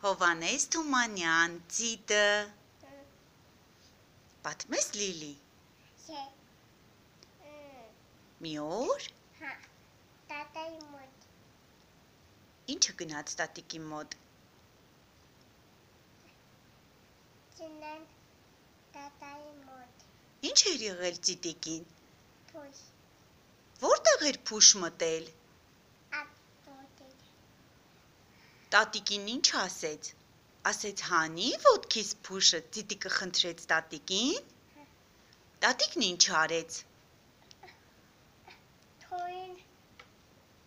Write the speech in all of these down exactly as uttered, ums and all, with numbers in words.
Հովանես Թումանյան, ծիտը։ Պատմես Լիլի։ Մի օր։ Հա, տատայի մոտ։ Ինչը գնաց տատիկի մոտ։ Ծնան տատայի մոտ։ Ինչ էր եղել ծիտիկին։ Փուշ։ Որտեղ էր փուշ մտել։ Ատոտել։ Տատիկին ինչ ասեց։ Ասեց հանի ոտքիս փուշը, ծիտիկը խնդրեց տատիկին։ Տատիկն ինչ արեց։ Թույն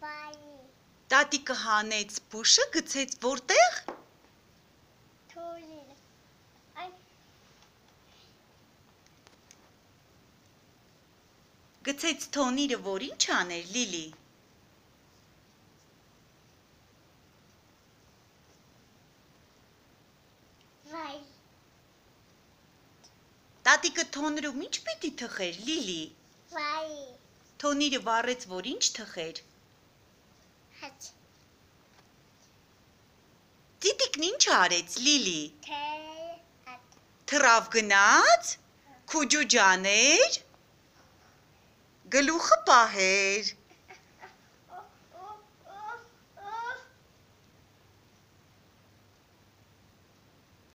վայի։ Տատիկը հանեց փուշը, գցեց որտեղ։ Թույն։ Այն Գցեց թոնիրը, որ ինչ աներ Լիլի։ վայ։ Տատիկը թոնրում ինչ պիտի թխեր Լիլի։ Վայ։ Թոնիրը վառեց, որ ինչ թխեր։ Հաց։ Ծիտիկն ինչ արեց Լիլի։ Թե ատ։ Թռավ գնաց, քուջուջաներ, գլուխը պահեր։